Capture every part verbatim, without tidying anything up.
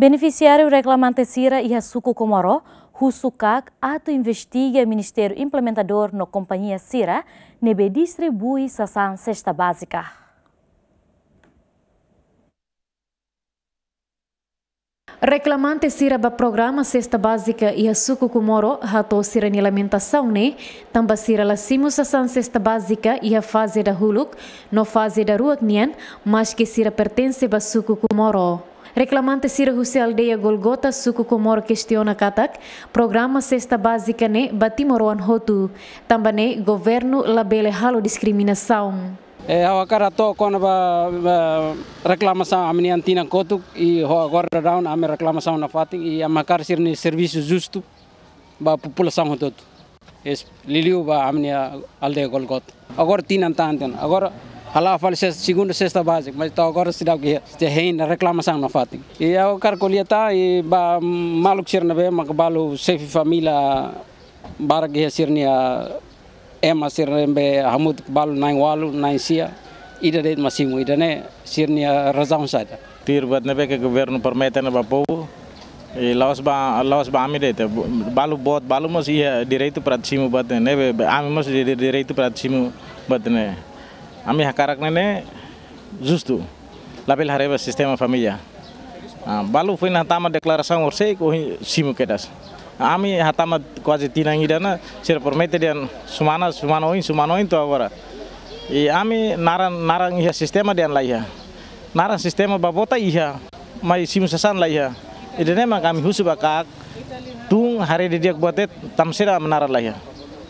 Benefisiáriu reklamante sira iha suku Comoro husu KAK atu investiga ministériu implementadór no kompañia sira ne'ebé distribui sasán sesta bázika. Reklamante sira ba programa sesta bázika iha suku Comoro hato'o sira-nia lamentasaun ne'e, tanba sira la simu sasán sesta bázika iha faze dahuluk no faze daruak nian, maski sira pertense ba suku Comoro. Reklamante sira husi aldeia Golgota, suku Comoro kestiona katak programa sesta bázika ne'e ba timoroan hotu, tanba ne'e governu labele halo diskriminasaun. Eh, ha'u hakarak to'o kona-ba, ba reklamasaun ami-nian tinan kotuk, i ho agora daudaun ami reklamasaun nafatin, i ami hakarak sira-nia servisu justu ba populasaun hotu-hotu. Es liuliu ba ami-nia aldeia Golgota. Agora tinan tan tinan. Agora hala'o fali ses-, segunda sesta bázika, mas to'o agora seidauk iha, seidauk hein reklamasaun nafatin. I ha'u hakarak ko'alia tan, i ba maluk sira ne'ebé maka balu xefe família barak iha sira-nia ema sira ne'ebé hamutuk balu na'in-ualu, na'in-sia, ida de'it mak simu, ida-ne'e sira-nia razaun saida. Tuir buat ne'ebé ke governu promete ona ba povu, i la'ós ba, la'ós ba ami de'it, balu boot, balu mós iha direitu para simu buat ne'e, be, be, ami mós di, di, direitu para simu buat ne'e. Ami hakarak ne'e, ne'e justu. Labele haree ba sistema família. Ah, balu foin hatama deklarasaun horisehik, ohin simu kedas. Ami hatama kuaze tinan ida ona, sira promete dehan semana, semana oin, semana oin to'o agora. I ami naran, naran iha sistema dehan la iha. Naran sistema ba vota iha, mai simu sasán la iha. Ida-ne'e mak ami husu ba KAK, tun haree didi'ak buat de'it, tanba saida ami naran la iha.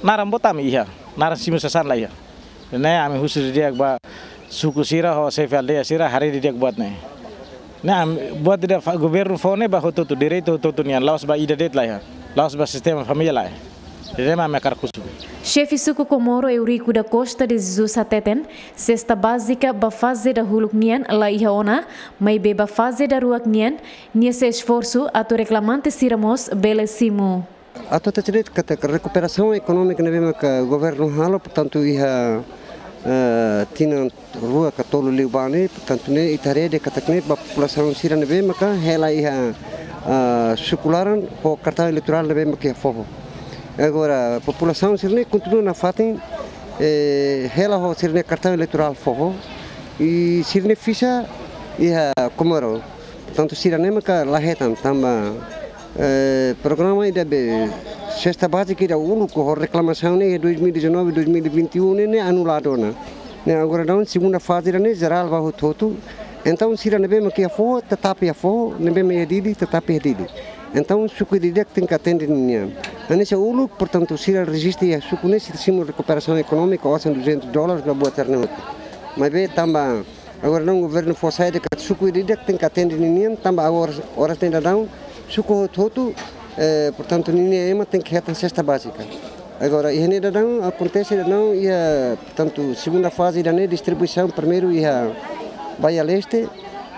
Naran vota ami iha, naran simu sasán la iha. Ne'e ami husu didi'ak ba suku sira ho xefe aldeia sira haree didi'ak buat ne'e. Ne'e ami buat ida fa-, governu fó ne'e ba hotu-hotu, direitu hotu-hotu nian, la'ós ba ida de'it la iha, la'ós ba sistema família la iha. Ne'e mak ami hakarak husu. Xefe suku Comoro Eurico da Costa de Jesus hateten, sesta bázika ba faze dahuluk nian la iha ona, maibé ba faze daruak nian, nia sei esforsu atu reklamante sira mós bele simu. Atu hatete de'it katak rekuperasaun ekonómika ne'ebé maka governu halo, portantu iha, eh, tinan rua ka tolu liubá ne'e, portantu ne'e ita haree de'it katak ne'e ba populasaun sira ne'ebé maka hela iha, ah, suku laran ho kartaun eleitorál ne'ebé maka iha foho. Agora populasaun sira-ne'e kontinua nafatin, eh, hela ho sira-nia kartaun eleitorál foho. I sira-nia fixa iha Comoro. Portantu sira-ne'e maka la hetan tanba, eh, programa ida be sesta bázika ida uluk ho reklamasaun ne'e dois mil e dezanove, dois mil e vinte e um ne'e, ne'e anuladu ona. Ne'e agora daudaun segunda faze ida-ne'e jerál ba hotu-hotu. Entaun sira ne'ebé maka iha foho, tetap iha foho, ne'ebé mak iha Dili, tetap iha Dili. Entaun suku ida-idak tenke atende ninian. Hanesan uluk, portantu sira rejista iha suku ne'e, sira simu rekuperasaun ekonómika, osan duzentos dólares ba buat sira-ne'e hotu. Maibé tanba agora daudaun governu fó sai de'it katak suku ida-idak tenke atende ninian, tanba agora oras ne'e daudaun suku hotu-hotu, eh, portantu ninia ema tenke hetan sesta bázika. Agora iha ne'e daudaun akontese daudaun iha, portantu segunda faze ida-ne'e distribuisaun, primeiru iha Baía Leste,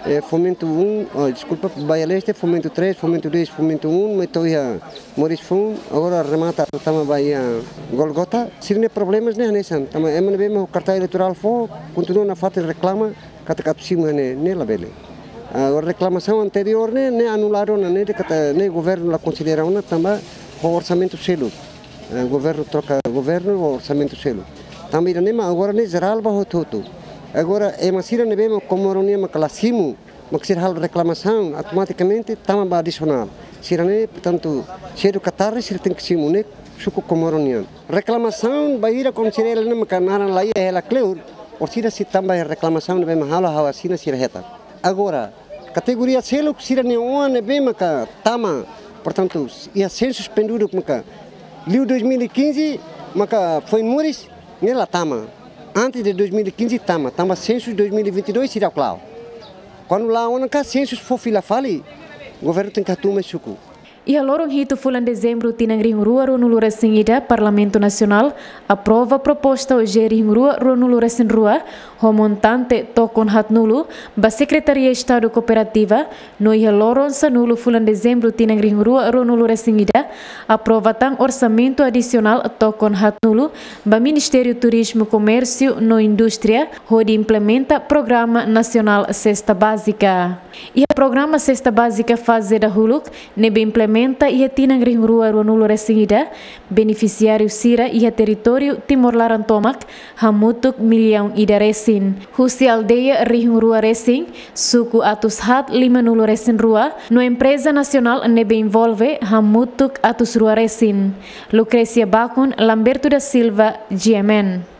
eh, Fomento um, oh, deskulpa, Baía Leste, Fomento três, Fomento dois, Fomento um, mai to'o iha Moris Foun, agora remata tama ba iha Golgota. Sira-nia problemas ne'e hanesan, tanba ema ne'ebé mak ho kartaun eleitorál foho, kontinua nafatin reklama katak atu simu iha ne'e, ne'e labele. Ah, reklamasaun anteriór ne'e, ne'e anuladu ona, ne'e dehan katak ne'e governu la konsidera ona tanba ho orsamentu seluk. Eh, governu troka governu ho orsamentu seluk. Tanba ida-ne'e mak agora ne'e jerál ba hotu-hotu. Agora ema sira ne'ebé mak Comoro nian mak la simu, mak sira halo reklamasaun, automatikamente tama ba adisionál. Sira-ne'e, portantu, sedu ka tarde sira tenke simu, ne'e suku Comoro nian. Reklamasaun bainhira konsidera ne'e maka naran la iha, hela kleur, orsida sei tama reklamasaun ne'ebé mak halo, ha'u asina, sira hetan. Agora, kategoria seluk sira-nia oan ne'ebé maka tama, portantu, iha sensus penduduk maka liu dois mil e quinze maka foin moris, ne'e la tama. Antes de dois mil e quinze tama, tanba sensus dois mil e vinte e dois seidauk la'o. Kuandu la'o ona ka sensus fó fila fali, governu tenke hatuur mai suku. Iha loron hitu fulan Dezembru tinan rihun rua ruanulu resin ida, Parlamentu Nasionál aprova proposta OJE rihun rua ruanulu resin rua, ho montante tokon haatnulu ba Sekretaria Estadu Kooperativa, no iha loron sanulu fulan Dezembru tinan rihun rua ruanulu resin ida, aprova tan orsamentu adisionál tokon haatnulu ba Ministériu Turizmu, Komérsiu no Indústria, hodi implementa Programa Nasionál Sesta Bázika. Iha Programa Sesta Bázika faze dahuluk ne'ebé implementa iha tinan rihun rua rua nulu resin ida, benefisiáriu sira iha territóriu Timor laran tomak hamutuk millaun ida resin. Husi aldeia rihun rua resin, suku atus haat lima nulu resin rua, no empreza nasionál ne'ebé envolve hamutuk atus rua resin. Lucrecia Bacon, Lamberto da Silva, G M N.